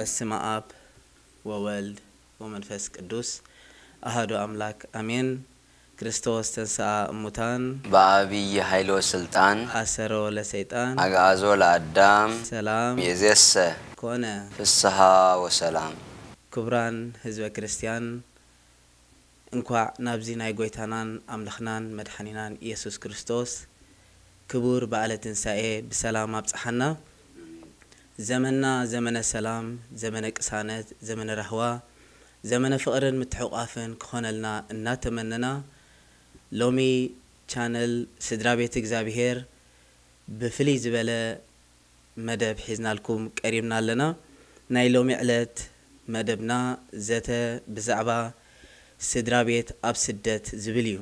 በስመ አብ ወወልድ ወመንፈስ ቅዱስ አሐዱ አምላክ አሜን። ክርስቶስ ተንሥአ እሙታን በአቢይ ኃይል ወስልጣን አሰሮ ለሰይጣን አግዓዞ ለአዳም ሰላም ይእዜሰ ኮነ። ፍስሐ ወሰላም። ክቡራን ህዝበ ክርስቲያን፣ እንኳዕ ናብዚ ናይ ጐይታናን ኣምላኽናን መድሓኒናን ኢየሱስ ክርስቶስ ክቡር በዓለ ትንሳኤ ብሰላም ኣብጽሓና። ዘመንና ዘመነ ሰላም፣ ዘመነ ቅሳነት፣ ዘመነ ራህዋ፣ ዘመነ ፍቕርን ምትሕቑቓፍን ክኾነልና እናተመነና፣ ሎሚ ቻነል ስድራ ቤት እግዚኣብሔር ብፍልይ ዝበለ መደብ ሒዝናልኩም ቀሪብና ኣለና። ናይ ሎሚ ዕለት መደብና ዘተ ብዛዕባ ስድራ ቤት ኣብ ስደት ዝብል እዩ።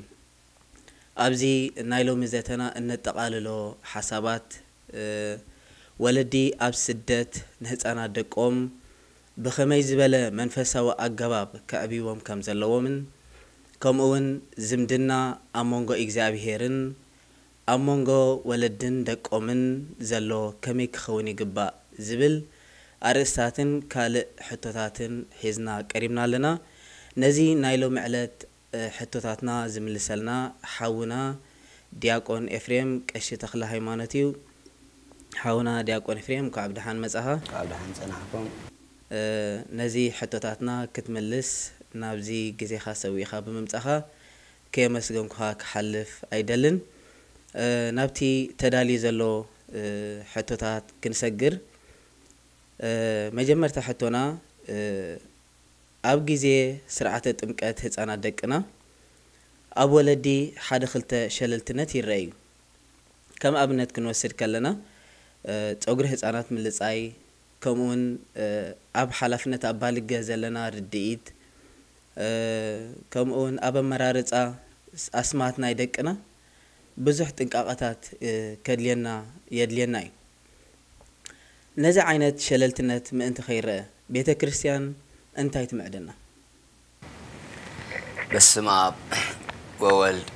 ኣብዚ ናይ ሎሚ ዘተና እነጠቓልሎ ሓሳባት፣ እ፣ ወለዲ ኣብ ስደት ንህፃናት ደቆም ብኸመይ ዝበለ መንፈሳዊ ኣገባብ ከዕብይዎም ከም ዘለዎምን፣ ከምኡ እውን ዝምድና ኣብ መንጎ እግዚኣብሄርን ኣብ መንጎ ወለድን ደቆምን ዘሎ ከመይ ክኸውን ይግባእ ዝብል ኣርእስታትን ካልእ ሕቶታትን ሒዝና ቀሪብና ኣለና። ነዚ ናይ ሎሚ ዕለት፣ እ፣ ሕቶታትና ዝምልሰልና ሓውና ዲያቆን ኤፍሬም ቀሺ ተኽለ ሃይማኖት እዩ። ሓውና ዲያቆን ኤፍሬም፣ እንኳዕ ብደሓን መጻኻ። ካብ ደሓን ጸናሕኩም። እ፣ ነዚ ሕቶታትና ክትምልስ ናብዚ ግዜኻ ሰዊእኻ ብምምጻኻ ከየመስገንኩኻ ክሓልፍ ኣይደልን። እ፣ ናብቲ ተዳልዩ ዘሎ፣ እ፣ ሕቶታት ክንሰግር፣ እ፣ መጀመርታ ሕቶና፣ እ፣ ኣብ ግዜ ስርዓተ ጥምቀት ህጻናት ደቅና ኣብ ወለዲ ሓደ ክልተ ሸለልትነት ይረኣዩ። ከም ኣብነት ክንወስድ ከለና፣ እ፣ ጸጉሪ ህጻናት ምልጻይ፣ ከምኡውን፣ እ፣ ኣብ ሓላፍነት ኣባልገ ዘለና ርድኢት፣ እ፣ ከምኡውን ኣብ ኣመራርጻ ስ-፣ ኣስማት ናይ ደቅና ብዙሕ ጥንቃቐታት፣ እ፣ ከድልየና፣ የድልየና እዩ። ነዚ ዓይነት ሸለልትነት ምእንቲ ከይረአ ቤተ ክርስቲያን እንታይ ትምዕደና? በስመ አብ ወወልድ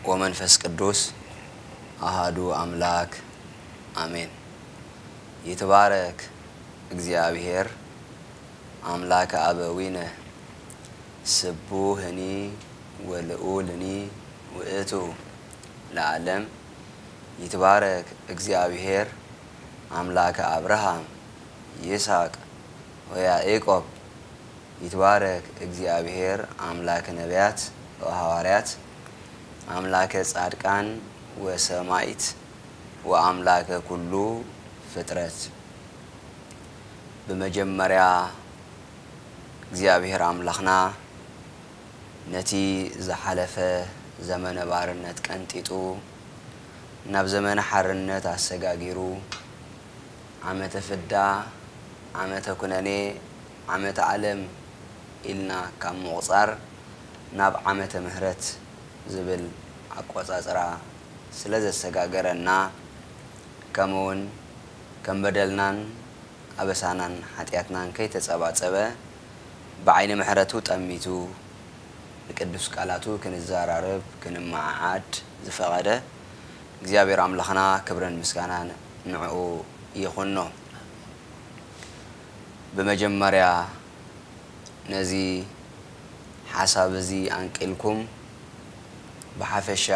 ወመንፈስ ቅዱስ አሃዱ አምላክ አሜን። ይትባረክ እግዚአብሔር አምላክ አበዊነ ስቡህኒ ወልዑልኒ ውእቱ ለዓለም። ይትባረክ እግዚአብሔር አምላክ አብርሃም ይስሐቅ ወያዕቆብ። ይትባረክ እግዚአብሔር አምላክ ነቢያት ወሐዋርያት አምላከ ጻድቃን ወሰማይት ወአምላከ ኩሉ ፍጥረት። ብመጀመርያ እግዚኣብሔር ኣምላኽና ነቲ ዝሓለፈ ዘመነ ባርነት ቀንጢጡ ናብ ዘመነ ሓርነት ኣሰጋጊሩ ዓመተ ፍዳ፣ ዓመተ ኩነኔ፣ ዓመተ ዓለም ኢልና ካብ ምቑጻር ናብ ዓመተ ምህረት ዝብል ኣቆጻጽራ ስለ ዘሰጋገረና፣ ከምኡውን ከም በደልናን ኣበሳናን ሓጢኣትናን ከይተጸባጸበ፣ ብዓይኒ ምሕረቱ ጠሚቱ ንቅዱስ ቃላቱ ክንዘራረብ ክንመዓዓድ ዝፈቐደ እግዚኣብሔር ኣምላኽና ክብርን ምስጋናን ንዕኡ ይኹኖ። ብመጀመርያ ነዚ ሓሳብ እዚ ኣንቂልኩም ብሓፈሻ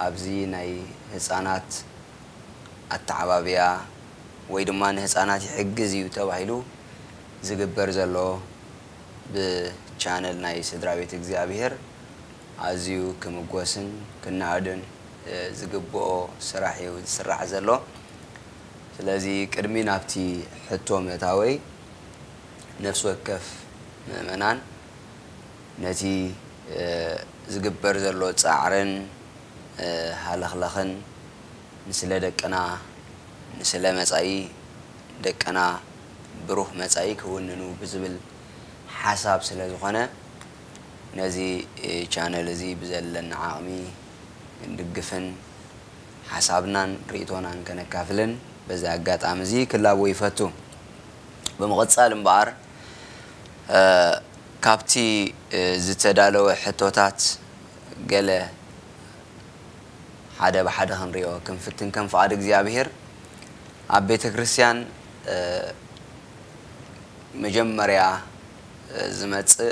ኣብዚ ናይ ህጻናት ኣተዓባብያ ወይ ድማ ንህጻናት ይሕግዝ እዩ ተባሂሉ ዝግበር ዘሎ ብቻነል ናይ ስድራ ቤት እግዚኣብሔር ኣዝዩ ክምጎስን ክነኣድን፣ እ፣ ዝግብኦ ስራሕ እዩ ዝስራሕ ዘሎ። ስለዚ ቅድሚ ናብቲ ሕቶ ምእታወይ ነፍሲ ወከፍ ምእመናን ነቲ፣ እ፣ ዝግበር ዘሎ ጻዕርን፣ እ፣ ሃለኽለኽን ንስለ ደቅና፣ ንስለ መጻኢ ደቅና ብሩህ መጻኢ ክውንኑ ብዝብል ሓሳብ ስለ ዝኾነ፣ ነዚ፣ እ፣ ቻነል እዚ ብዘለና ዓቕሚ ክንድግፍን ሓሳብናን ርእይቶናን ከነካፍልን በዚ ኣጋጣሚ እዚ ክላቦ ይፈቱ። ብምቕጻል እምበኣር፣ እ፣ ካብቲ፣ እ፣ ዝተዳለወ ሕቶታት ገለ ሓደ ብሓደ ክንሪኦ ክንፍትን ከም ፍቓድ እግዚኣብሔር ኣብ ቤተ ክርስቲያን፣ እ፣ መጀመርያ ዝመጽእ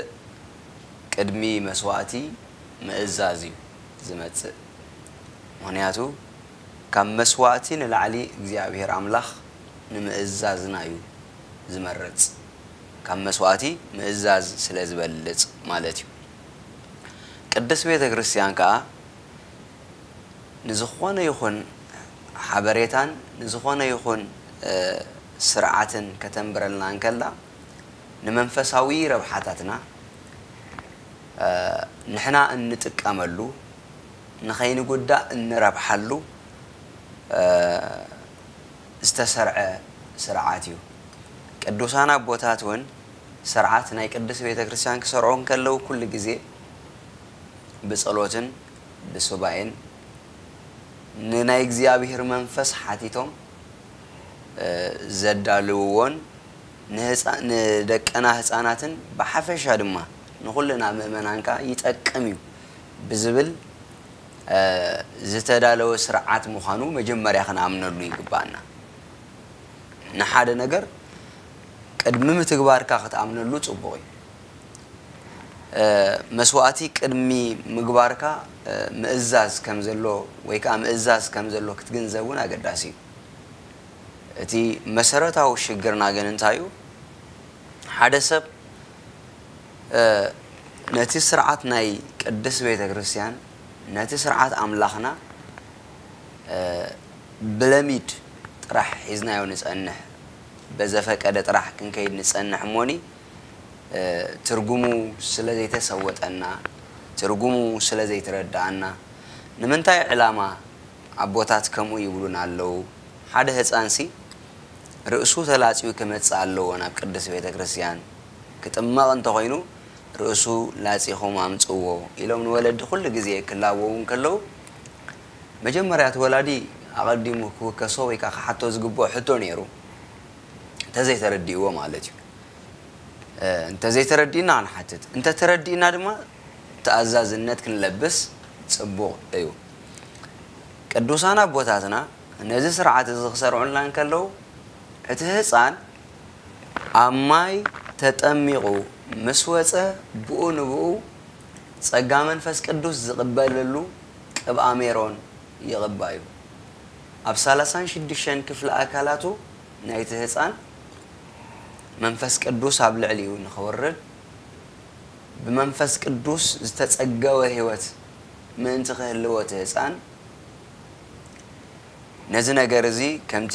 ቅድሚ መስዋእቲ ምእዛዝ እዩ ዝመጽእ። ምኽንያቱ ካብ መስዋእቲ ንላዕሊ እግዚኣብሔር ኣምላኽ ንምእዛዝና እዩ ዝመርጽ። ካብ መስዋእቲ ምእዛዝ ስለ ዝበልጽ ማለት እዩ። ቅድስት ቤተ ክርስቲያን ከኣ ንዝኾነ ይኹን ሓበሬታን ንዝኾነ ይኹን ስርዓትን ከተንብረልና እንከላ ንመንፈሳዊ ረብሓታትና ንሕና እንጥቀመሉ ንኸይንጉዳእ እንረብሓሉ ዝተሰርዐ ስርዓት እዩ። ቅዱሳን ኣቦታት እውን ስርዓት ናይ ቅድስት ቤተ ክርስቲያን ክሰርዑ እንከለዉ ኩሉ ግዜ ብጸሎትን ብሱባኤን ንናይ እግዚኣብሔር መንፈስ ሓቲቶም ዘዳልውዎን ንደቀና ህፃናትን ብሓፈሻ ድማ ንኹልና ምእመናን ከዓ ይጠቅም እዩ ብዝብል ዝተዳለወ ስርዓት ምዃኑ መጀመርያ ክንኣምነሉ ይግባኣና። ንሓደ ነገር ቅድሚ ምትግባርካ ክትኣምነሉ ፅቡቕ እዩ። መስዋእቲ ቅድሚ ምግባርካ ምእዛዝ ከም ዘሎ ወይ ከዓ ምእዛዝ ከም ዘሎ ክትግንዘብ እውን ኣገዳሲ እዩ። እቲ መሰረታዊ ሽግርና ግን እንታይ እዩ? ሓደ ሰብ ነቲ ስርዓት ናይ ቅድስት ቤተ ክርስቲያን ነቲ ስርዓት ኣምላኽና ብለሚድ ጥራሕ ሒዝናዮ ንጸንሕ፣ በዘፈቀደ ጥራሕ ክንከይድ ንጸንሕ እሞኒ ትርጉሙ ስለ ዘይተሰወጠና ትርጉሙ ስለ ዘይተረዳኣና ንምንታይ ዕላማ ኣቦታት ከምኡ ይብሉና ኣለዉ? ሓደ ህፃንሲ ርእሱ ተላፅዩ ክመፅእ ኣለዎ ናብ ቅድስት ቤተ ክርስቲያን። ክጥመቕ እንተኾይኑ ርእሱ ላፂኹም ኣምፅዎ ኢሎም ንወለዲ ኩሉ ግዜ ክላበዉ እንከለዉ መጀመርያ እቲ ወላዲ ኣቐዲሙ ክውከሶ ወይ ከዓ ክሓቶ ዝግብኦ ሕቶ ነይሩ እንተዘይተረዲእዎ ማለት እዩ። እንተዘይተረዲእና ንሓትት፣ እንተተረዲእና ድማ ተኣዛዝነት ክንለብስ ፅቡቕ እዩ። ቅዱሳን ኣቦታትና ነዚ ስርዓት እዚ ክሰርዑልና እንከለዉ እቲ ህፃን ኣብ ማይ ተጠሚቑ ምስ ወፀ ብኡ ንብኡ ጸጋ መንፈስ ቅዱስ ዝቕበለሉ ቅብኣ ሜሮን ይቕባ እዩ። ኣብ ሰላሳን ሽዱሽተን ክፍሊ ኣካላቱ ናይቲ ህፃን መንፈስ ቅዱስ ኣብ ልዕሊኡ ንኽወርድ ብመንፈስ ቅዱስ ዝተጸገወ ህይወት ምእንቲ ክህልዎ እቲ ህፃን ነዚ ነገር እዚ ከምቲ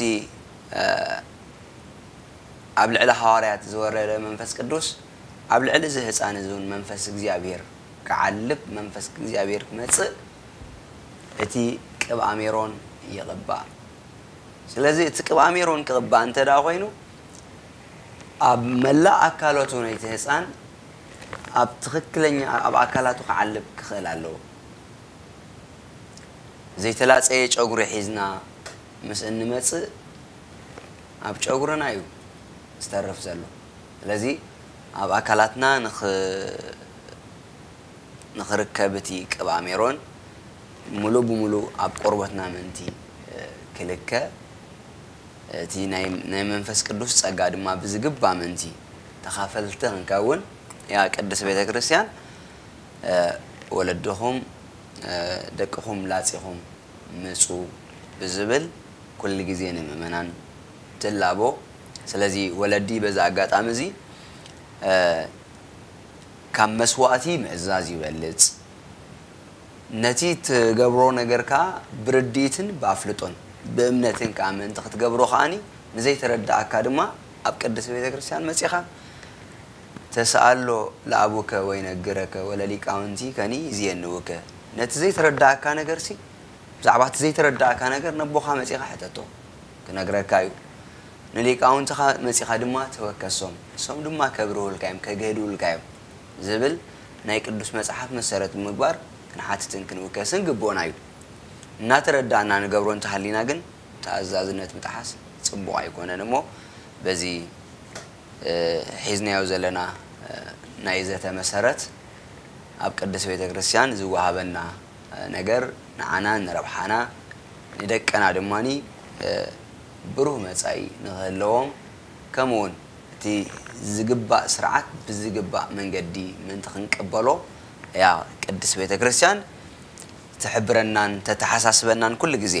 ኣብ ልዕሊ ሃዋርያት ዝወረደ መንፈስ ቅዱስ ኣብ ልዕሊ እዚ ህፃን እዚ እውን መንፈስ እግዚኣብሔር ክዓልብ መንፈስ እግዚኣብሔር ክመፅእ እቲ ቅብኣ ሜሮን ይቕባእ። ስለዚ እቲ ቅብኣ ሜሮን ክቕባእ እንተ ደኣ ኮይኑ ኣብ መላእ ኣካላቱ ናይቲ ህፃን ኣብ ትኽክለኛ ኣብ ኣካላቱ ክዓልብ ክኽእል ኣለዎ። ዘይተላፀየ ጨጉሪ ሒዝና ምስ እንመፅእ ኣብ ጨጉርና እዩ ዝተርፍ ዘሎ። ስለዚ ኣብ ኣካላትና ንኽ ንኽርከብ እቲ ቅብኣ ሜሮን ሙሉእ ብሙሉእ ኣብ ቆርበትና ምእንቲ ክልከ እቲ ናይ መንፈስ ቅዱስ ጸጋ ድማ ብዝግባ ምእንቲ ተኻፈልቲ ክንከውን ያ ቅድስት ቤተ ክርስቲያን ወለድኹም ደቅኹም ላጺኹም ምጹ ብዝብል ኩሉ ግዜ ንምእመናን ትላቦ። ስለዚ ወለዲ በዚ ኣጋጣሚ እዚ ካብ መስዋእቲ ምእዛዝ ይበልጽ። ነቲ ትገብሮ ነገር ከኣ ብርድኢትን ብኣፍልጦን ብእምነትን ከኣ ምእንቲ ክትገብሮ ከኣኒ ንዘይተረድኣካ ድማ ኣብ ቅድስት ቤተ ክርስቲያን መጺኻ ተስኣሎ ለኣቡከ ወይነግረከ ወለሊቃውንቲከኒ ይዜንውከ። ነቲ ዘይተረድኣካ ነገርሲ ብዛዕባ እቲ ዘይተረዳእካ ነገር ነቦኻ መጺኻ ሕተቶ፣ ክነግረካ እዩ። ንሊቃውንትኻ መጺኻ ድማ ተወከሶም፣ ንሶም ድማ ከብርሁልካ እዮም፣ ከግህዱልካ እዮም ዝብል ናይ ቅዱስ መጽሓፍ መሰረት ብምግባር ክንሓትትን ክንውከስን ግቡእና እዩ። እናተረዳእና ንገብሮ እንተሃሊና ግን ተኣዛዝነት ምጥሓስ ጽቡቕ ኣይኮነን እሞ በዚ ሒዝናዮ ዘለና ናይ ዘተ መሰረት ኣብ ቅድስት ቤተ ክርስቲያን ዝወሃበና ነገር ንዓና ንረብሓና ንደቀና ድማ ብሩህ መጻኢ ንኽህለዎም ከምኡውን እቲ ዝግባእ ስርዓት ብዝግባእ መንገዲ ምእንቲ ክንቅበሎ እያ ቅድስት ቤተ ክርስቲያን ትሕብረናን ተተሓሳስበናን ኩሉ ግዜ።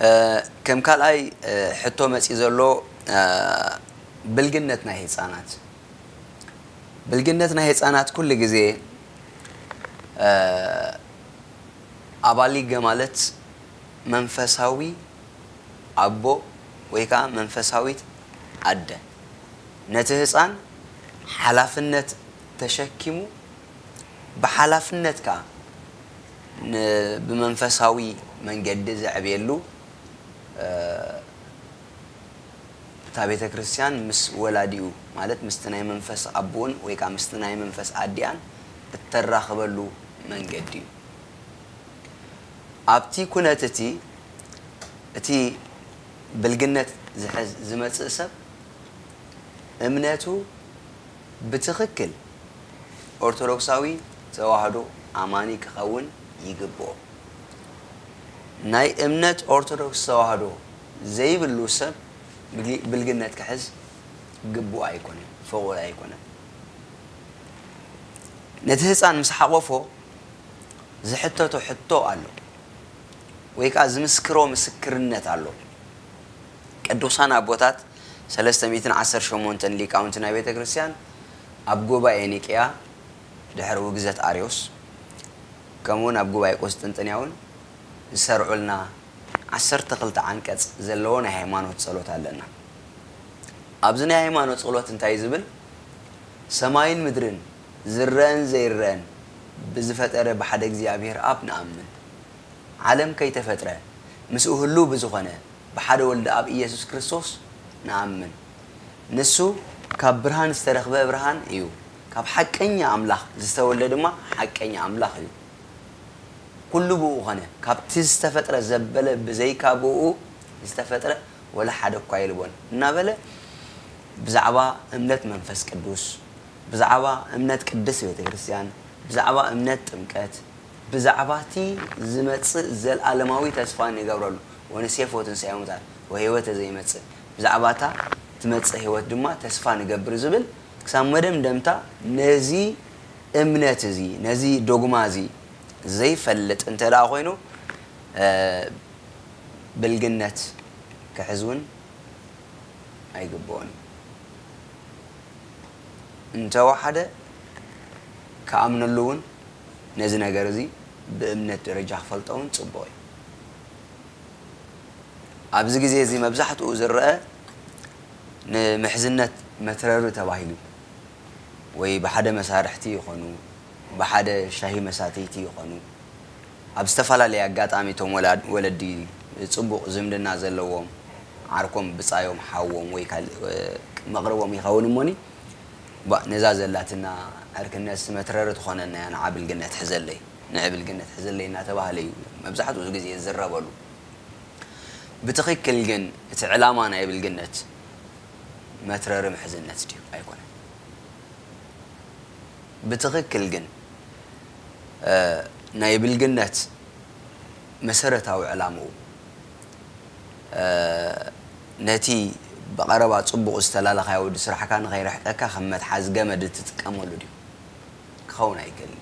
እ፣ ከም ካልኣይ፣ እ፣ ሕቶ መጺእ ዘሎ፣ እ፣ ብልግነት ናይ ህጻናት። ብልግነት ናይ ህጻናት ኩሉ ግዜ፣ እ፣ ኣባሊገ ማለት መንፈሳዊ ኣቦ ወይ ከዓ መንፈሳዊት ኣደ ነቲ ህፃን ሓላፍነት ተሸኪሙ ብሓላፍነት ከዓ ን-፣ ብመንፈሳዊ መንገዲ ዘዕብየሉ፣ እ፣ እታ ቤተ ክርስቲያን ምስ ወላዲኡ ማለት ምስቲ ናይ መንፈስ ኣቦኡን ወይ ከዓ ምስቲ ናይ መንፈስ ኣዲኣን እተራኽበሉ መንገዲ እዩ። ኣብቲ ኩነት እቲ፣ እቲ ብልግነት ዝሕዝ ዝመጽእ ሰብ እምነቱ ብትኽክል ኦርቶዶክሳዊ ተዋህዶ ኣማኒ ክኸውን ይግብኦ። ናይ እምነት ኦርቶዶክስ ተዋህዶ ዘይብሉ ሰብ ብግ-፣ ብልግነት ክሕዝ ግቡእ ኣይኮነን፣ ፍቑድ ኣይኮነን። ነቲ ህፃን ምስ ሓቆፎ ዝሕተቶ ሕቶ ኣሎ፣ ወይ ከዓ ዝምስክሮ ምስክርነት ኣሎ። ቅዱሳን ኣቦታት ሰለስተ ሚእትን ዓሰርተ ሸሞንተን ሊቃውንቲ ናይ ቤተ ክርስቲያን ኣብ ጉባኤ ኒቅያ ድሕሪ ውግዘት ኣርዮስ፣ ከምኡውን ኣብ ጉባኤ ቁስጥንጥንያ እውን ዝሰርዑልና ዓሰርተ ክልተ ዓንቀጽ ዘለዎ ናይ ሃይማኖት ጸሎት ኣለና። ኣብዚ ናይ ሃይማኖት ጸሎት እንታይ ዝብል? "ሰማይን ምድርን ዝረአን ዘይረአን ብዝፈጠረ ብሓደ እግዚኣብሔር ኣብ ንኣምን። ዓለም ከይተፈጥረ ምስኡ ህሉው ብዝኾነ ብሓደ ወልዲ ኣብ ኢየሱስ ክርስቶስ ንኣምን። ንሱ ካብ ብርሃን ዝተረኽበ ብርሃን እዩ። ካብ ሓቀኛ ኣምላኽ ዝተወልደ ድማ ሓቀኛ ኣምላኽ እዩ። ኩሉ ብኡ ኾነ። ካብቲ ዝተፈጥረ ዘበለ ብዘይካ ብኡ ዝተፈጥረ ወላ ሓደ እኳ የልቦን" እናበለ ብዛዕባ እምነት መንፈስ ቅዱስ፣ ብዛዕባ እምነት ቅድስት ቤተ ክርስቲያን፣ ብዛዕባ እምነት ጥምቀት፣ ብዛዕባ እቲ ዝመጽእ ዘለኣለማዊ ተስፋ ንገብረሉ፣ "ወንሴፎ ትንሳኤ ሙታን ወህይወተ ዘይመጽእ"፣ ብዛዕባ እታ ትመጽእ ህይወት ድማ ተስፋ ንገብር ዝብል ክሳብ መደምደምታ ነዚ እምነት እዚ፣ ነዚ ዶግማ እዚ ዘይፈልጥ እንተ ደኣ ኮይኑ፣ እ፣ ብልግነት ክሕዝ እውን ኣይግብኦን እዩ። እንተወሓደ ክኣምነሉ እውን ነዚ ነገር እዚ ብእምነት ደረጃ ክፈልጦ እውን ጽቡቕ እዩ። ኣብዚ ግዜ እዚ መብዛሕትኡ ዝረአ ንምሕዝነት መትረሪ ተባሂሉ ወይ ብሓደ መሳርሕቲ ይኾኑ፣ ብሓደ ሻሂ መሳተይቲ ይኾኑ፣ ኣብ ዝተፈላለየ ኣጋጣሚ እቶም ወላድ-፣ ወለዲ ጽቡቕ ዝምድና ዘለዎም ዓርኮም፣ ብጻዮም፣ ሓዎም ወይ ካልእ፣ እ፣ መቕርቦም ይኸውን እሞኒ፣ ባ-፣ ነዛ ዘላትና ዕርክነት መትረሪ ትኾነና እያ፣ ንዓ ብልግነት ሕዘለይ፣ ንዒ ብልግነት ሕዘለይ እናተባህለ እዩ መብዛሕትኡ ግዜ ዝዝረበሉ። ብትኽክል ግን እቲ ዕላማ ናይ ብልግነት መትረሪ ምሕዝነት ድዩ? ኣይኮነን። ብትኽክል ግን፣ እ፣ ናይ ብልግነት መሰረታዊ ዕላምኡ፣ እ፣ ነቲ ብቐረባ ጽቡቕ ዝተላለኻዮ ወዲ ስራሕካ ንኸይርሕቀካ ከም መትሓዚ ገመድ እትጥቀመሉ ድዩ? ክኸውን ኣይክእልን።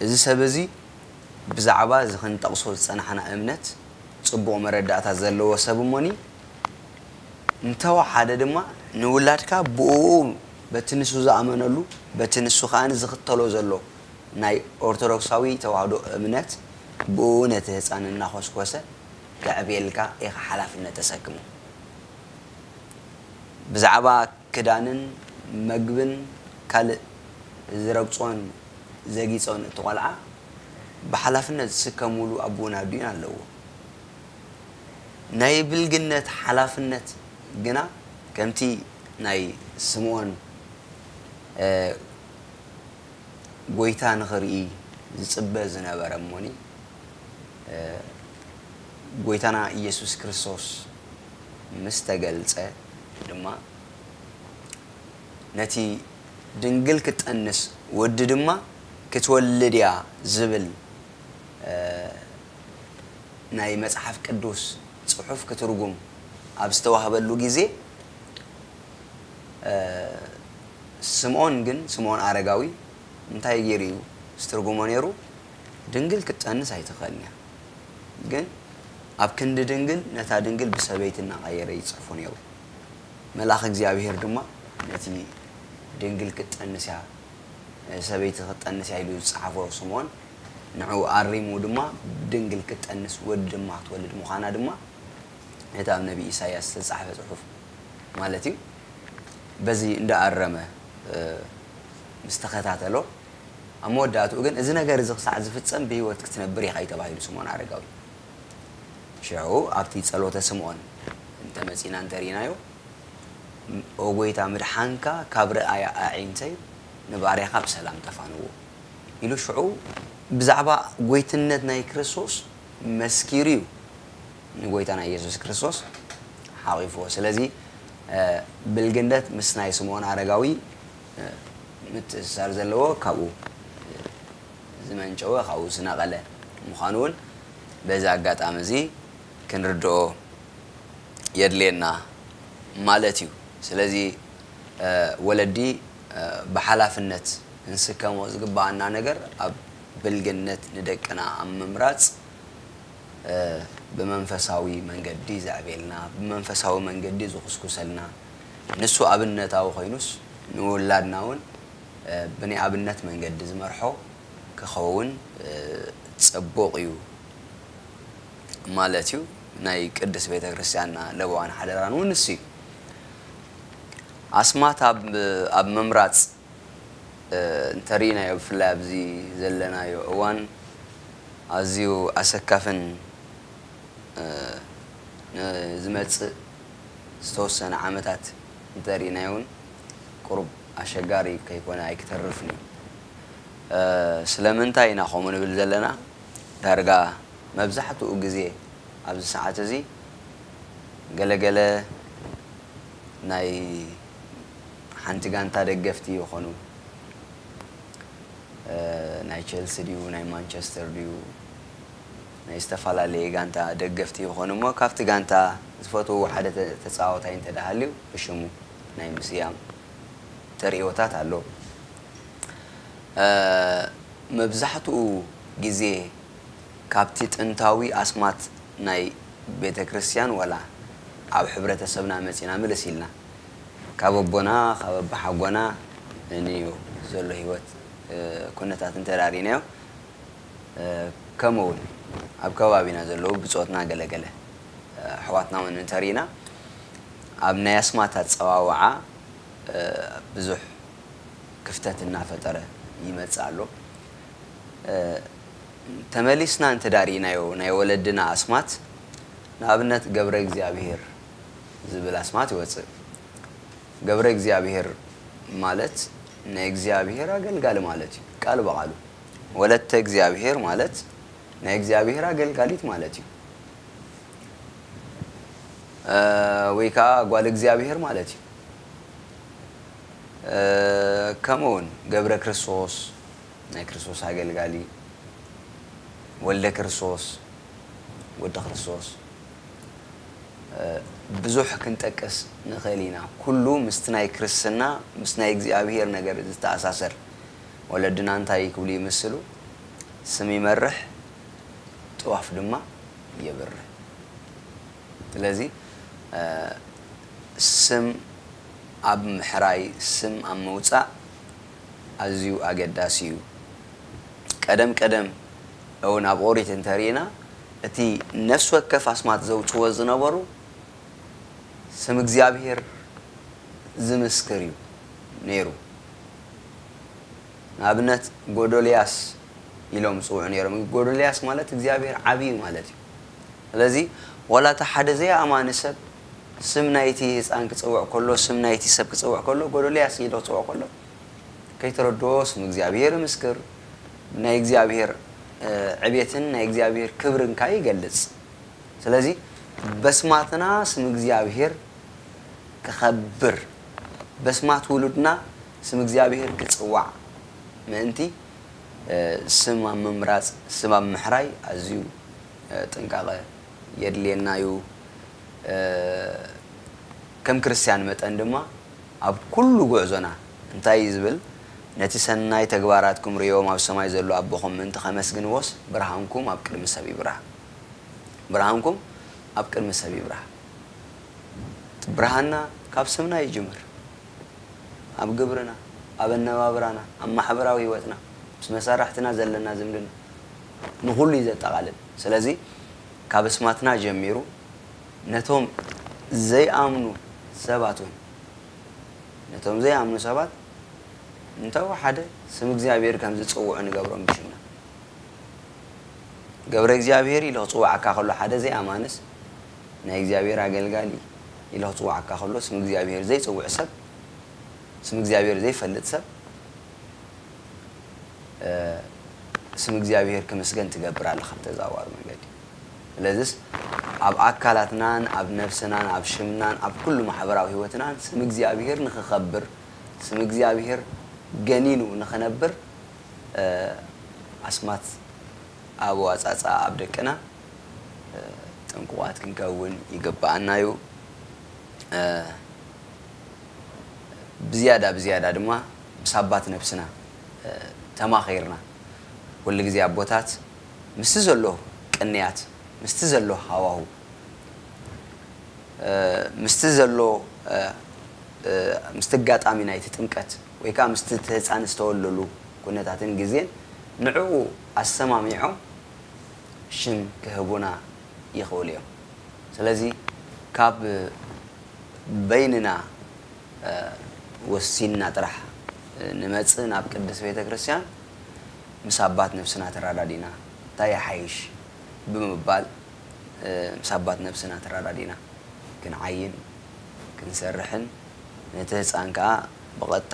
እዚ ሰብ እዚ ብዛዕባ እዚ ክንጠቕሶ ዝጸናሕና እምነት ጽቡቕ መረዳእታ ዘለዎ ሰብ እሞኒ፣ እንተወሓደ ድማ ንውላድካ ብእኡ፣ በቲ ንሱ ዝኣመነሉ፣ በቲ ንሱ ከኣ ዝኽተሎ ዘሎ ናይ ኦርቶዶክሳዊ ተዋህዶ እምነት ብእኡ ነቲ ህጻን እናኾስኮሰ ከዕብየልካ ኢኻ ሓላፍነት ተሰክሞ። ብዛዕባ ክዳንን መግብን ካልእ ዝረግጾን ዘጊጾን እቲ ቆልዓ ብሓላፍነት ዝስከምሉ ኣቦን ኣዲኡን ኣለዎ። ናይ ብልግነት ሓላፍነት ግና ከምቲ ናይ ስምኦን፣ እ፣ ጎይታ ንኽርኢ ዝጽበ ዝነበረ እሞኒ፣ እ፣ ጎይታና ኢየሱስ ክርስቶስ ምስ ተገልጸ ድማ ነቲ ድንግል ክትጠንስ ወዲ ድማ ክትወልድ እያ ዝብል፣ እ፣ ናይ መጽሓፍ ቅዱስ ጽሑፍ ክትርጉም ኣብ ዝተዋህበሉ ግዜ፣ እ፣ ስምዖን ግን፣ ስምዖን ኣረጋዊ እንታይ ገይሩ እዩ ዝትርጉሞ ነይሩ? ድንግል ክትጠንስ ኣይትኽእልን እያ። ግን ኣብ ክንዲ ድንግል፣ ነታ ድንግል ብሰበይቲ እናቐየረ ይጽሕፎ ነይሩ። መልኣኽ እግዚኣብሔር ድማ ነቲ ድንግል ክትጠንስ እያ፣ ሰበይቲ ክትጠንስ እያ ኢሉ ዝጸሓፎ ስምዖን፣ ንዕኡ ኣሪሙ ድማ ድንግል ክትጠንስ፣ ወዲ ድማ ክትወልድ ምዃና ድማ ነቲ ኣብ ነቢ ኢሳይያስ ዝተጻሕፈ ጽሑፍ ማለት እዩ። በዚ እንዳኣረመ፣ እ፣ ምስ ተኸታተሎ፣ ኣብ መወዳእትኡ ግን፣ "እዚ ነገር እዚ ክሳዕ ዝፍጸም ብህይወት ክትነብር ኢኻ" እዩ ተባሂሉ ስምዖን ኣረጋዊ። ሽዑ ኣብቲ ጸሎተ ስምዖን እንተመጺና እንተርኢናዮ፣ "ኦ ጐይታ፣ ምድሓንካ ካብ ረኣያ ኣዒንተይ ንባርያኻ ብሰላም ተፋንዎ" ኢሉ ሽዑ ብዛዕባ ጐይትነት ናይ ክርስቶስ መስኪሩ እዩ ንጐይታና ኢየሱስ ክርስቶስ ሓቒፍዎ። ስለዚ፣ እ፣ ብልግነት ምስ ናይ ስምዖን ኣረጋዊ፣ እ፣ ምትእስሳር ዘለዎ ካብኡ፣ እ፣ ዝመንጨወ፣ ካብኡ ዝነቐለ ምዃኑ እውን በዚ ኣጋጣሚ እዚ ክንርድኦ የድልየና ማለት እዩ። ስለዚ፣ እ፣ ወለዲ፣ እ፣ ብሓላፍነት ክንስከሞ ዝግብኣና ነገር ኣብ ብልግነት ንደቅና ኣብ ምምራጽ፣ እ፣ ብመንፈሳዊ መንገዲ ዘዕቤልና፣ ብመንፈሳዊ መንገዲ ዝኹስኩሰልና፣ ንሱ ኣብነታዊ ኮይኑስ ንውላድና እውን፣ እ፣ ብናይ ኣብነት መንገዲ ዝመርሖ ክኸውን፣ እ፣ ጽቡቕ እዩ ማለት እዩ። ናይ ቅድስት ቤተ ክርስቲያንና ለበዋን ሓደራን እውን ንሱ እዩ። ኣስማት ኣብ፣ ኣብ ምምራጽ፣ እ፣ እንተርኢናዮ፣ ብፍላይ ኣብዚ ዘለናዮ እዋን ኣዝዩ ኣሰካፍን፣ እ፣ ንዝመጽእ ዝተወሰነ ዓመታት እንተርኢናዮ እውን ቁሩብ ኣሸጋሪ ከይኮነ ኣይክተርፍን እዩ። እ፣ ስለምንታይ ኢና ከምኡ ንብል ዘለና? ዳርጋ መብዛሕትኡ ግዜ ኣብዚ ሰዓት እዚ ገለገለ ናይ ሓንቲ ጋንታ ደገፍቲ ይኾኑ። እ፣ ናይ ቸልሲ ድዩ፣ ናይ ማንቸስተር ድዩ፣ ናይ ዝተፈላለየ ጋንታ ደገፍቲ ይኾኑ እሞ፣ ካብቲ ጋንታ ዝፈትውዎ ሓደ ተ-፣ ተጻዋታይ እንተ ደኣ ሃልዩ፣ ብሽሙ ናይ ምስያም ተርእዮታት ኣሎ። እ፣ መብዛሕትኡ ግዜ ካብቲ ጥንታዊ ኣስማት ናይ ቤተ ክርስቲያን ዋላ ኣብ ሕብረተሰብና መጺና ምልስ ኢልና፣ ካብ ኣቦና፣ ካብ ኣባሓጎና እንዮ ዘሎ ህይወት፣ እ፣ ኩነታት እንተ ርኢናዮ፣ እ፣ ከምኡ እውን ኣብ ከባቢና ዘለዉ ብጾትና ገለገለ፣ እ፣ ኣሕዋትና እውን እንተርኢና፣ ኣብ ናይ ኣስማት ኣጸዋውዓ፣ እ፣ ብዙሕ ክፍተት እናፈጠረ ይመጽእ ኣሎ። እ፣ ተመሊስና እንተ ርኢናዮ፣ ናይ ወለድና ኣስማት፣ ንኣብነት ገብረ እግዚኣብሔር ዝብል ኣስማት ይወጽእ። ገብረ እግዚኣብሔር ማለት ናይ እግዚኣብሔር ኣገልጋሊ ማለት እዩ፣ ቃል ብቓሉ። ወለተ እግዚኣብሔር ማለት ናይ እግዚኣብሔር ኣገልጋሊት ማለት እዩ። እ፣ ወይ ከዓ ጓል እግዚኣብሔር ማለት እዩ። እ፣ ከምኡ እውን ገብረ ክርስቶስ፣ ናይ ክርስቶስ ኣገልጋሊ፣ ወልደ ክርስቶስ፣ ወዲ ክርስቶስ፣ እ፣ ብዙሕ ክንጠቅስ ንኽእል ኢና። ኩሉ ምስቲ ናይ ክርስትና፣ ምስ ናይ እግዚኣብሔር ነገር ዝተኣሳሰር። ወለድና እንታይ ክብሉ ይምስሉ? ስም ይመርሕ፣ ጥዋፍ ድማ የብርህ። ስለዚ፣ እ፣ ስም ኣብ ምሕራይ፣ ስም ኣብ ምውጻእ ኣዝዩ ኣገዳሲ እዩ። ቀደም ቀደም እውን ኣብ ኦሪት እንተርኢና፣ እቲ ነፍሲ ወከፍ ኣስማት ዘውጽዎ ዝነበሩ ስም እግዚኣብሔር ዝምስክር እዩ ነይሩ። ንኣብነት፣ ጎዶልያስ ኢሎም ዝጽውዑ ነይሮም። ጎዶልያስ ማለት እግዚኣብሔር ዓብዪ ማለት እዩ። ስለዚ፣ ዋላ እቲ ሓደ ዘይኣማኒ ሰብ ስም ናይቲ ህፃን ክጽውዕ ከሎ፣ ስም ናይቲ ሰብ ክጽውዕ ከሎ፣ ጎዶልያስ ኢሉ ክጽውዕ ከሎ፣ ከይተረድኦ ስም እግዚኣብሔር ይምስክር፣ ናይ እግዚኣብሔር፣ እ፣ ዕቤትን ናይ እግዚኣብሔር ክብርን ከኣ ይገልጽ። ስለዚ፣ በስማትና ስም እግዚኣብሔር ክኸብር፣ በስማት ውሉድና ስም እግዚኣብሔር ክጽዋዕ ምእንቲ፣ እ፣ ስም ኣብ ምምራጽ፣ ስም ኣብ ምሕራይ ኣዝዩ፣ እ፣ ጥንቃቐ የድልየና እዩ። ከም ክርስትያን መጠን ድማ ኣብ ኩሉ ጉዕዞና እንታይ እዩ ዝብል? ነቲ ሰናይ ተግባራትኩም ርእዮም ኣብ ሰማይ ዘሎ ኣቦኹም ምእንቲ ከመስግንዎስ ብርሃንኩም ኣብ ቅድሚ ሰብ ይብራህ። ብርሃንኩም ኣብ ቅድሚ ሰብ ይብራህ። እቲ ብርሃንና ካብ ስምና ይጅምር። ኣብ ግብርና፣ ኣብ ኣነባብራና፣ ኣብ ማሕበራዊ ህይወትና፣ ምስ መሳርሕትና ዘለና ዝምድና ንኹሉ እዩ ዘጠቓልል። ስለዚ ካብ ኣስማትና ጀሚሩ ነቶም ዘይኣምኑ ሰባት እውን ነቶም ዘይኣምኑ ሰባት እንተወሓደ ስም እግዚኣብሔር ከም ዝጽውዑ ንገብሮም ብሽምና። ገብረ እግዚኣብሔር ኢሉ ክጽውዓካ ከሎ ሓደ ዘይኣማንስ ናይ እግዚኣብሔር ኣገልጋሊ ኢሉ ክጽውዓካ ከሎ ስም እግዚኣብሔር ዘይጽውዕ ሰብ ስም እግዚኣብሔር ዘይፈልጥ ሰብ ስም እግዚኣብሔር ክምስገን ትገብር ኣለኻ ብተዘዋዋሪ መንገዲ። ስለዚስ ኣብ ኣካላትናን ኣብ ነፍስናን ኣብ ሽምናን ኣብ ኩሉ ማሕበራዊ ህይወትናን ስም እግዚኣብሔር ንክኸብር ስም እግዚኣብሔር ገኒኑ ንክነብር ኣስማት ኣብ ኣወፃፅኣ ኣብ ደቅና ጥንቁቓት ክንከውን ይግብኣና እዩ። ብዝያዳ ብዝያዳ ድማ ምስ ኣባት ነብስና ተማኺርና ኩሉ ግዜ ኣቦታት ምስቲ ዘሎ ቅንያት ምስቲ ዘሎ ሃዋሁ ምስቲ ዘሎ ምስቲ ኣጋጣሚ ናይቲ ጥምቀት ወይ ከዓ ምስቲ ህፃን ዝተወለሉ ኩነታትን ግዜን ንዕኡ ኣሰማሚዖም ሽም ክህቡና ይኽእሉ እዮም። ስለዚ ካብ በይንና ወሲንና ጥራሕ ንመጽእ ናብ ቅድስት ቤተ ክርስቲያን ምስ ኣባት ነፍስና ተራዳዲና እንታይ ይሓይሽ ብምባል ምስ ኣባት ነፍስና ተራዳዲና ክንዓይን ክንሰርሕን ነቲ ህፃን ከዓ ብቐጥታ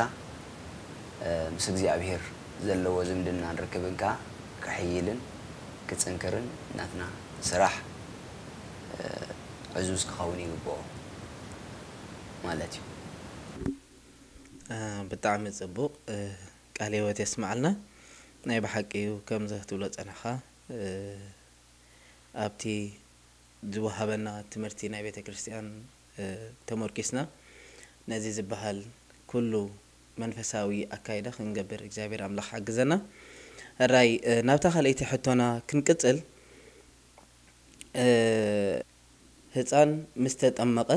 ምስ እግዚኣብሔር ዘለዎ ዝምድናን ርክብን ከዓ ክሕይልን ክፅንክርን ናትና ስራሕ ዕዙዝ ክኸውን ይግብኦ ማለት እዩ። ብጣዕሚ ፅቡቕ ቃል ህይወት የስማዓልና። ናይ ብሓቂ እዩ ከምዚ ክትብሎ ፀናሕኻ ኣብቲ ዝወሃበና ትምህርቲ ናይ ቤተ ክርስቲያን ተመርኪስና ነዚ ዝበሃል ኩሉ መንፈሳዊ ኣካይዳ ክንገብር እግዚኣብሔር ኣምላኽ ሓግዘና። ሕራይ ናብታ ካልኣይቲ ሕቶና ክንቅጽል ህፃን ምስ ተጠመቐ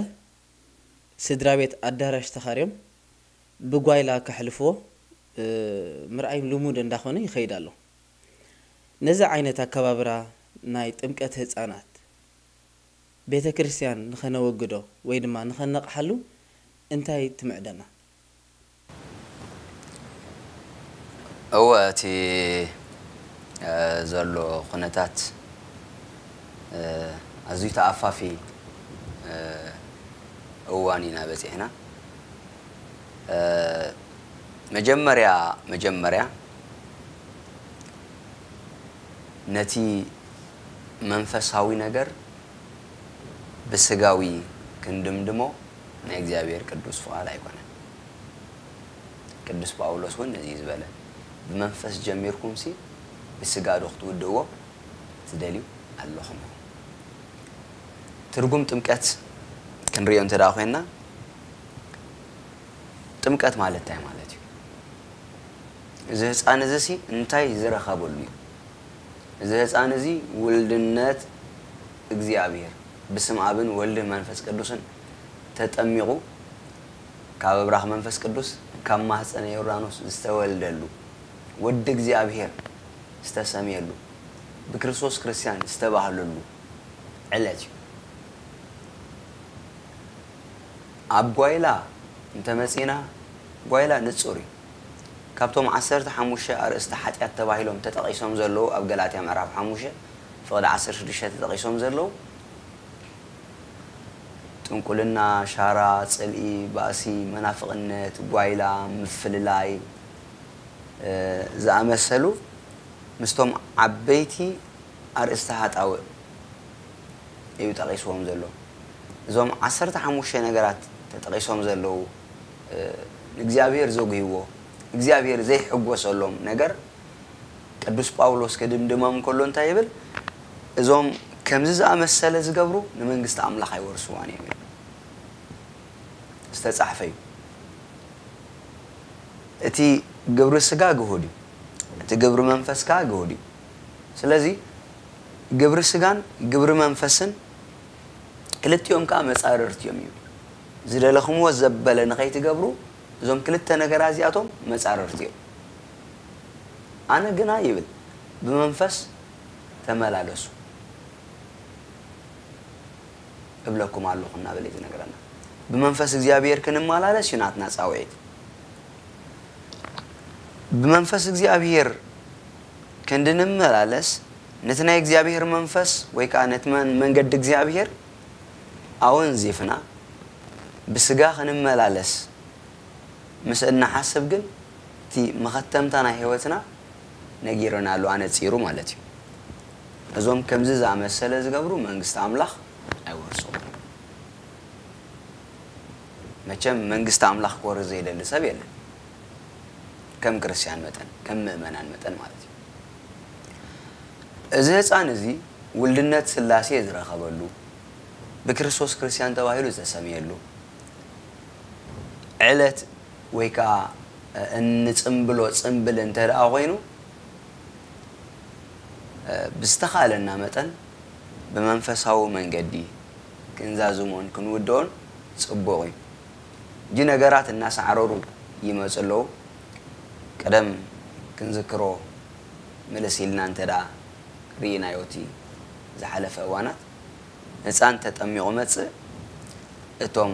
ስድራ ቤት ኣዳራሽ ተኻርዮም ብጓይላ ከሕልፍዎ ምርኣይ ልሙድ እንዳኾነ ይኸይድ ኣሎ። ነዚ ዓይነት ኣከባብራ ናይ ጥምቀት ህፃናት ቤተ ክርስቲያን ንኸነወግዶ ወይ ድማ ንኸነቕሓሉ እንታይ ትምዕደና? እወ እቲ ዘሎ ኩነታት ኣዝዩ ተኣፋፊ እዋን ኢና በፂሕና። መጀመርያ መጀመርያ ነቲ መንፈሳዊ ነገር ብስጋዊ ክንድምድሞ ናይ እግዚኣብሔር ቅዱስ ፍቓድ ኣይኮነን። ቅዱስ ጳውሎስ እውን ነዚ እዩ ዝበለ፣ ብመንፈስ ጀሚርኩምሲ ብስጋ ዶ ክትውድእዎ ትደልዩ ኣለኹም? ትርጉም ጥምቀት ክንሪኦ እንተ ደኣ ኮይንና ጥምቀት ማለት እንታይ ማለት እዩ? እዚ ህፃን እዚ ሲ እንታይ ዝረኸበሉ እዩ? እዚ ህፃን እዚ ውልድነት እግዚኣብሔር ብስም ኣብን ወልድን መንፈስ ቅዱስን ተጠሚቑ ካብ ኣብራኽ መንፈስ ቅዱስ ካብ ማህፀነ ዮርዳኖስ ዝተወልደሉ ወዲ እግዚኣብሔር ዝተሰምየሉ ብክርስቶስ ክርስቲያን ዝተባህለሉ ዕለት እዩ። ኣብ ጓይላ እንተመፂና ጓይላ ንፁር እዩ። ካብቶም ዓሰርተ ሓሙሽተ ኣርእስቲ ሓጢኣት ተባሂሎም ተጠቒሶም ዘለዉ ኣብ ገላትያ ምዕራፍ ሓሙሽተ ፍቕዲ ዓሰርተ ሽዱሽተ ተጠቒሶም ዘለዉ ጥንቁልና፣ ሻራ፣ ፅልኢ፣ ባእሲ፣ መናፍቕነት፣ ጓይላ፣ ምፍልላይ ዝኣመሰሉ ምስቶም ዓበይቲ ኣርእስቲ ሃጣውእ እዩ ጠቒስዎም ዘሎ። እዞም ዓሰርተ ሓሙሽተ ነገራት ተጠቒሶም ዘለዉ ንእግዚኣብሔር ዘጉህይዎ እግዚኣብሔር ዘይሕጎሰሎም ነገር ቅዱስ ጳውሎስ ክድምድሞም ከሎ እንታይ ይብል? እዞም ከምዚ ዝኣመሰለ ዝገብሩ ንመንግስቲ ኣምላኽ ኣይወርስዋን እዮም ዝተጻሕፈ እዩ። እቲ ግብሪ ስጋ ግሁድ እዩ፣ እቲ ግብሪ መንፈስ ከኣ ግሁድ እዩ። ስለዚ ግብሪ ስጋን ግብሪ መንፈስን ክልቲኦም ከኣ መጻርርቲ እዮም ይብል። ዝደለኹምዎ ዘበለ ንኸይትገብሩ እዞም ክልተ ነገራት እዚኣቶም መጻርርቲ እዮም። ኣነ ግና ይብል ብመንፈስ ተመላለሱ እብለኩም ኣለኹ እናበለ እዩ ዝነግረና። ብመንፈስ እግዚኣብሔር ክንመላለስ እዩ ናትና ጻውዒት። ብመንፈስ እግዚኣብሔር ክንድንመላለስ ነቲ ናይ እግዚኣብሔር መንፈስ ወይ ከዓ ነቲ መን- መንገዲ እግዚኣብሔር ኣወንዚፍና ብስጋ ክንመላለስ ምስ እንሓስብ ግን እቲ መኸተምታ ናይ ህይወትና ነጊርና ኣሎ ኣነጺሩ ማለት እዩ። እዞም ከምዚ ዝኣመሰለ ዝገብሩ መንግስቲ ኣምላኽ ኣይወርስዎም። መቸም መንግስቲ ኣምላኽ ክወርስ ዘይደሊ ሰብ የለን። ከም ክርስትያን መጠን፣ ከም ምእመናን መጠን ማለት እዩ። እዚ ህፃን እዚ ውልድነት ስላሴ ዝረኸበሉ፣ ብክርስቶስ ክርስትያን ተባሂሉ ዝተሰምየሉ ዕለት ወይ ከዓ እንፅምብሎ ፅምብል እንተ ደኣ ኮይኑ፣ ብዝተኻእለና መጠን ብመንፈሳዊ መንገዲ ክንዛዝሞን ክንውድኦን ጽቡቕ እዩ። እጂ ነገራት እናሳዕረሩ ይመጹ ኣለዉ። ቀደም ክንዝክሮ ምልስ ኢልና እንተ ደኣ ርኢናዮ እቲ ዝሓለፈ እዋናት፣ ህጻን ተጠሚቑ መጽእ፣ እቶም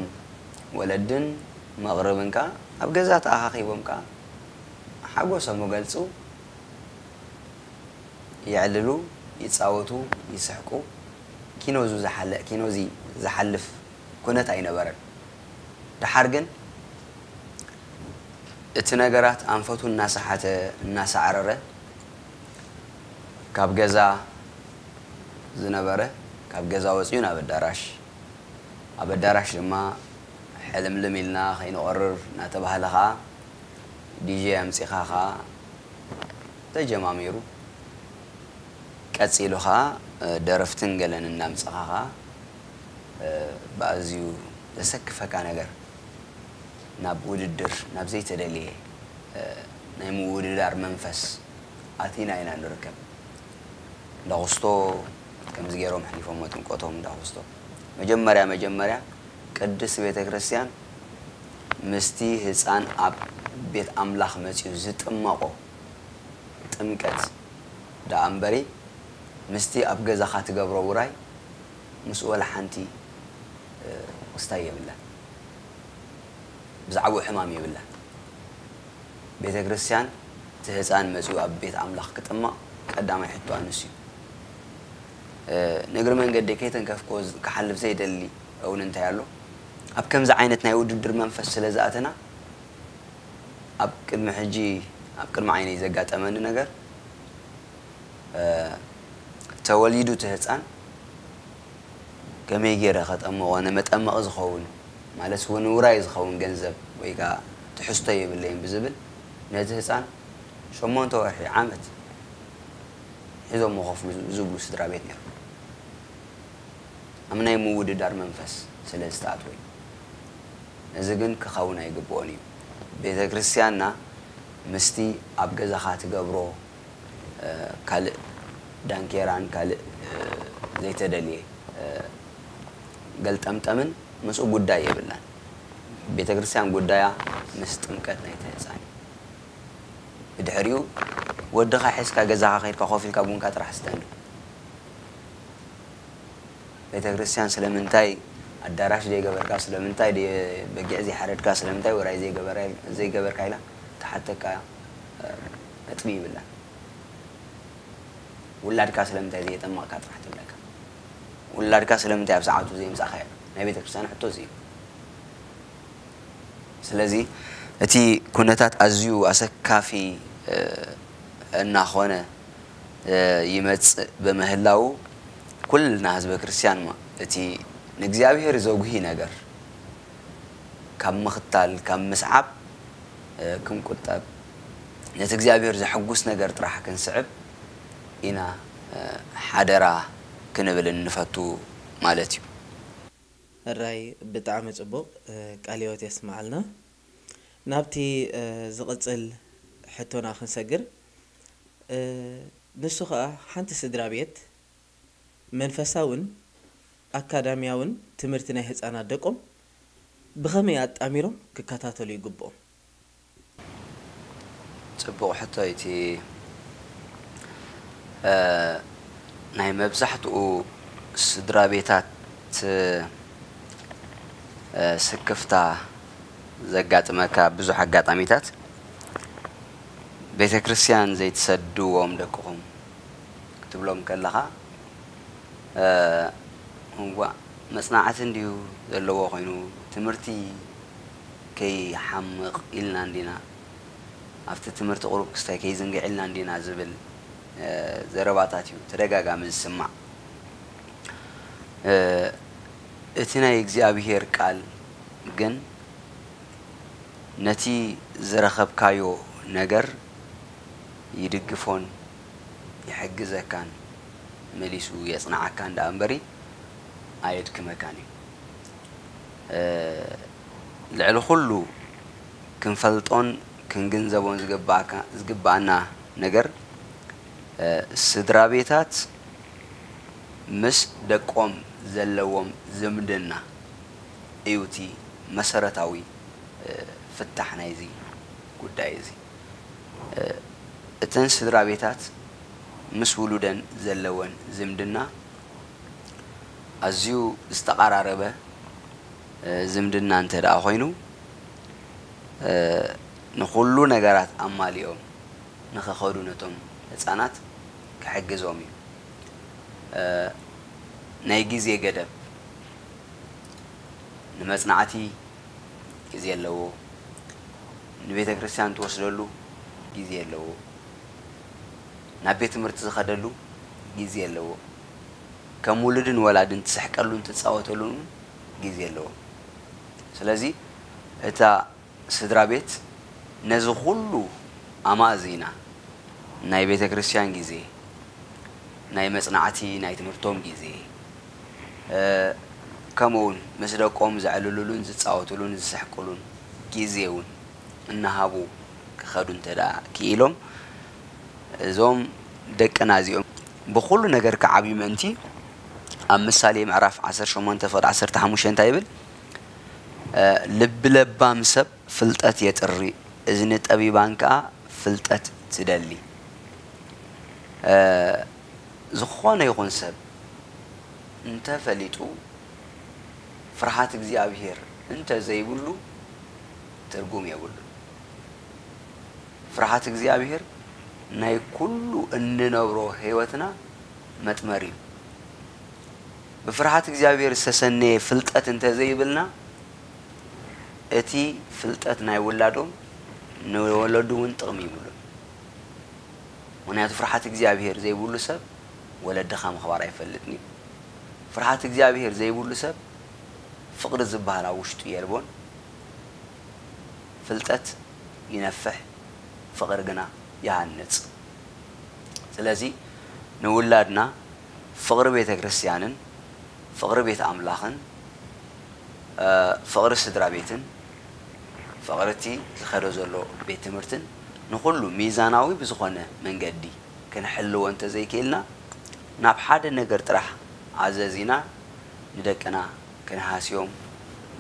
ወለድን መቕርብን ከኣ ኣብ ገዛ ተኣኻኺቦም ከኣ ሓጎሶም ይገልጹ፣ የዕልሉ፣ ይጻወቱ፣ ይስሕቁ። ኪኖ ዙ ዝሓለ- ኪኖ እዚ ዝሓልፍ ኩነት ኣይነበረን። ደሓር ግን እቲ ነገራት ኣንፈቱ እናሰሓተ እናሳዕረረ ካብ ገዛ ዝነበረ ካብ ገዛ ወፂኡ ናብ ኣዳራሽ፣ ኣብ ኣዳራሽ ድማ ሕልምልም ኢልና ከይንቆርር እናተባህለ ከዓ ዲጄ ኣምፂኻ ከዓ ተጀማሚሩ። ቀፂሉ ከዓ ደረፍትን ገለን እናምፀኻ ከዓ ብኣዝዩ ዘሰክፈካ ነገር ናብ ውድድር፣ ናብ ዘይተደልየ ናይ ምውድዳር መንፈስ ኣቲና ኢና ንርከብ። እንዳኹስቶ ከምዚ ገይሮም ኣሕሊፎሞ ጥምቀቶም እንዳኹስቶ። መጀመርያ መጀመርያ ቅድስት ቤተ ክርስቲያን ምስቲ ህፃን ኣብ ቤት ኣምላኽ መፂኡ ዝጥመቖ ጥምቀት ደኣ እምበሪ ምስቲ ኣብ ገዛኻ ትገብሮ ውራይ ምስኡ ወላ ሓንቲ ክስታይ የብላን። ብዛዕባኡ ሕማም የብላን። ቤተ ክርስቲያን እቲ ህፃን መፂኡ ኣብ ቤት ኣምላኽ ክጥመቕ ቀዳማይ ሕቶ ኣንስ እዩ። ንእግሪ መንገዲ ከይተንከፍኮ ክሓልፍ ዘይደሊ እውን እንታይ ኣሎ? ኣብ ከምዚ ዓይነት ናይ ውድድር መንፈስ ስለ ዝኣተና ኣብ ቅድሚ ሕጂ ኣብ ቅድሚ ዓይነይ ዘጋጠመኒ ነገር ተወሊዱ እቲ ህፃን ከመይ ገይረ ከጠምቖ ንመጠመቒ ዝኸውን ማለት እውን ውራይ ዝኸውን ገንዘብ ወይ ከዓ ትሕዝቶ የብለይን ብዝብል ነቲ ህፃን ሸሞንተ ወርሒ ዓመት ሒዞም መኸፍሉ ዝብሉ ስድራ ቤት ነይሩ። ኣብ ናይ ምውድዳር መንፈስ ስለ ዝተኣትወ እዩ። እዚ ግን ክኸውን ኣይግብኦን እዩ። ቤተ ክርስቲያንና ምስቲ ኣብ ገዛኻ ትገብሮ ካልእ ዳንኬራን ካልእ ዘይተደልየ ገልጠምጠምን ምስኡ ጉዳይ የብላን። ቤተ ክርስቲያን ጉዳያ ምስ ጥምቀት ናይቲ ህፃን እዩ። ብድሕሪኡ ወድኻ ሒዝካ ገዛኻ ከይድካ ኮፍ ኢልካ ቡንካ ጥራሕ ስተኒ። ቤተ ክርስቲያን ስለምንታይ ኣዳራሽ ዘይገበርካ፣ ስለምንታይ በጊዕ ዘይሓረድካ፣ ስለምንታይ ወራይ ዘይገበርካ ኢላ ትሓተካ ነጥቢ ይብላን። ውላድካ ስለምንታይ ዘየጠመቕካ ጥራሕ ትብለካ። ውላድካ ስለምንታይ ኣብ ሰዓቱ ዘይምጻእካዮ? ናይ ቤተ ክርስቲያን ሕቶ እዚ እዩ። ስለዚ እቲ ኩነታት ኣዝዩ ኣሰካፊ እናኾነ ይመጽእ ብምህላው፣ ኩልና ህዝበ ክርስቲያን እቲ ንእግዚኣብሔር ዘጉሂ ነገር ካብ ምኽታል፣ ካብ ምስዓብ ክንቁጠብ፣ ነቲ እግዚኣብሔር ዘሐጉስ ነገር ጥራሕ ክንስዕብ ኢና ሓደራ ክንብል እንፈቱ ማለት እዩ። ሕራይ ብጣዕሚ ጽቡቕ፣ ቃለ ህይወት የስምዓልና። ናብቲ ዝቕጽል ሕቶና ክንሰግር፣ ንሱ ኸኣ ሓንቲ ስድራ ቤት መንፈሳውን ኣካዳሚያውን ትምህርቲ ናይ ህጻናት ደቆም ብኸመይ ኣጣሚሮም ክከታተሉ ይግብኦም? ጽቡቕ ሕቶ እዩ። እቲ ናይ መብዛሕትኡ ስድራ ቤታት ስክፍታ ዘጋጥመካ ብዙሕ ኣጋጣሚታት ቤተ ክርስቲያን ዘይትሰድዎም ደቅኹም ክትብሎም ከለኻ እዋእ መጽናዕቲ እንድዩ ዘለዎ ኮይኑ ትምህርቲ ከይሓምቕ ኢልና እንዲና ኣብቲ ትምህርቲ ቁሩብ ክስታይ ከይዝንግዕ ኢልና እንዲና ዝብል ዘረባታት እዩ ተደጋጋሚ ዝስማዕ። እቲ ናይ እግዚኣብሄር ቃል ግን ነቲ ዝረኸብካዮ ነገር ይድግፎን ይሕግዘካን መሊሱ የጽንዓካን ደኣ እምበሪ ኣየድክመካን እዩ። ልዕሊ ኩሉ ክንፈልጦን ክንግንዘቦን ዝግባኣና ነገር ስድራ ቤታት ምስ ደቆም ዘለዎም ዝምድና እዩ እቲ መሰረታዊ ፍታሕ ናይዚ ጉዳይ እዚ። እተን ስድራ ቤታት ምስ ውሉደን ዘለወን ዝምድና ኣዝዩ ዝተቓራረበ ዝምድና እንተ ደኣ ኮይኑ ንኹሉ ነገራት ኣማሊኦም ንኸኸዱ ነቶም ህጻናት ክሕግዞም እዩ። ናይ ግዜ ገደብ ንመጽናዕቲ ግዜ ኣለዎ። ንቤተ ክርስቲያን ትወስደሉ ግዜ ኣለዎ። ናብ ቤት ትምህርቲ ዝኸደሉ ግዜ ኣለዎ። ከም ውሉድን ወላድን ትስሕቀሉን ትጻወተሉን እውን ግዜ ኣለዎ። ስለዚ እታ ስድራ ቤት ነዚ ኩሉ ኣማእዚና ናይ ቤተ ክርስቲያን ግዜ፣ ናይ መጽናዕቲ ናይ ትምህርቶም ግዜ፣ ከምኡ እውን ምስ ደቆም ዘዕልሉሉን ዝጻወቱሉን ዝስሕቅሉን ግዜ እውን እናሃቡ ክኸዱ እንተ ደኣ ክኢሎም እዞም ደቅና እዚኦም ብኹሉ ነገር ክዓብዩ ምእንቲ ኣብ ምሳሌ ምዕራፍ ዓሰርተ ሸሞንተ ፍቕዲ ዓሰርተ ሓሙሽተ እንታይ ይብል? ልቢ ለባም ሰብ ፍልጠት የጥሪ፣ እዝኒ ጠቢባን ከኣ ፍልጠት ትደሊ። ዝኾነ ይኹን ሰብ እንተፈሊጡ ፍርሃት እግዚኣብሄር እንተዘይብሉ ትርጉም የብሉን። ፍርሃት እግዚኣብሄር ናይ ኩሉ እንነብሮ ህይወትና መጥመሪ እዩ። ብፍርሃት እግዚኣብሄር ዝተሰነየ ፍልጠት እንተዘይብልና እቲ ፍልጠት ናይ ውላዶም ንወለዱ እውን ጥቕሚ ይብሉን። ምኽንያቱ ፍርሓት እግዚኣብሄር ዘይብሉ ሰብ ወለድኻ ምኽባር ኣይፈልጥን እዩ። ፍርሓት እግዚኣብሄር ዘይብሉ ሰብ ፍቕሪ ዝበሃል ኣብ ውሽጡ የልቦን። ፍልጠት ይነፍሕ፣ ፍቕሪ ግና ይሃንጽ። ስለዚ ንውላድና ፍቕሪ ቤተ ክርስቲያንን ፍቕሪ ቤት ኣምላኽን ፍቕሪ ስድራ ቤትን ፍቕሪ እቲ ዝኸዶ ዘሎ ቤት ትምህርትን ንኹሉ ሚዛናዊ ብዝኾነ መንገዲ ክንሕልዎ እንተዘይክኢልና ናብ ሓደ ነገር ጥራሕ ኣዘዚና ንደቅና ክንሃስዮም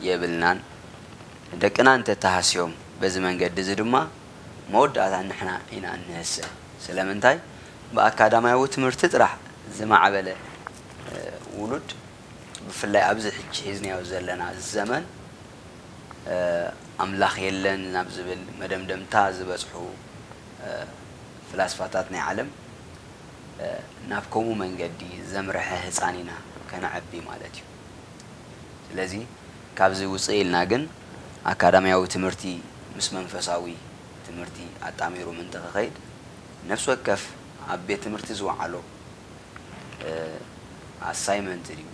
የብልናን። ንደቅና እንተተሃስዮም በዚ መንገዲ እዚ ድማ መወዳእታ ንሕና ኢና እንህሰ። ስለምንታይ? ብኣካዳማያዊ ትምህርቲ ጥራሕ ዝማዕበለ ውሉድ ብፍላይ ኣብዚ ሕጂ ሒዝናዮ ዘለና ዘመን ኣምላኽ የለን ናብ ዝብል መደምደምታ ዝበጽሑ ፍላስፋታት ናይ ዓለም ናብ ከምኡ መንገዲ ዘምርሐ ህጻን ኢና ከነዕቢ ማለት እዩ። ስለዚ ካብዚ ውጽእ ኢልና ግን ኣካዳሚያዊ ትምህርቲ ምስ መንፈሳዊ ትምህርቲ ኣጣሚሩ ምእንቲ ክኸይድ ነፍሲ ወከፍ ኣብ ቤት ትምህርቲ ዝወዓሎ ኣሳይመንት ድዩ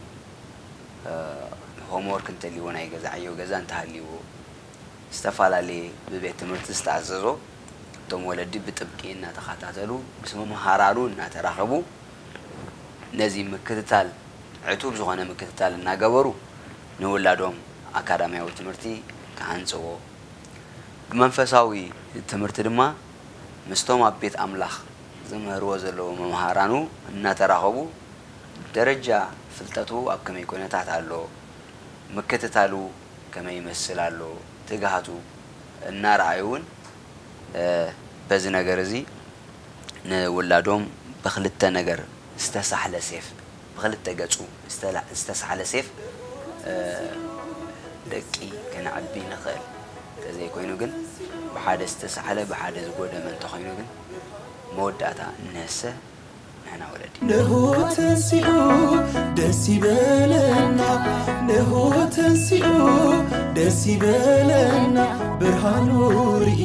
ሆምወርክ እንተልዎ ናይ ገዛ ዕዮ ገዛ እንተሃልዎ ዝተፈላለየ ብቤት ትምህርቲ ዝተኣዘዞ እቶም ወለዲ ብጥብቂ እናተኸታተሉ ምስ መምሃራኑ እናተራኸቡ ነዚ ምክትታል ዕቱብ ዝኾነ ምክትታል እናገበሩ ንውላዶም ኣካዳሚያዊ ትምህርቲ ክሃንፅዎ፣ ብመንፈሳዊ ትምህርቲ ድማ ምስቶም ኣብ ቤት ኣምላኽ ዝምህርዎ ዘለዉ መምሃራኑ እናተራኸቡ ደረጃ ፍልጠቱ ኣብ ከመይ ኩነታት ኣሎ፣ ምክትታሉ ከመይ ይመስል ኣሎ፣ ትግሃቱ እናረኣዩ እውን በዚ ነገር እዚ ንውላዶም ብክልተ ነገር ዝተሳሕለ ሴፍ ብክልተ ገፁ ዝተሳሕለ ሴፍ ደቂ ከነዕቢ ንኽእል። ተዘይኮይኑ ግን ብሓደ ዝተሳሕለ ብሓደ ዝጎደመ እንተኾይኑ ግን መወዳእታ እነሰ ንሕና ወለዲ ንሆ ተንሲኡ ደስ ይበለና፣ ንሆ ተንሲኡ ደስ ይበለና፣ ብርሃኑ ርኢ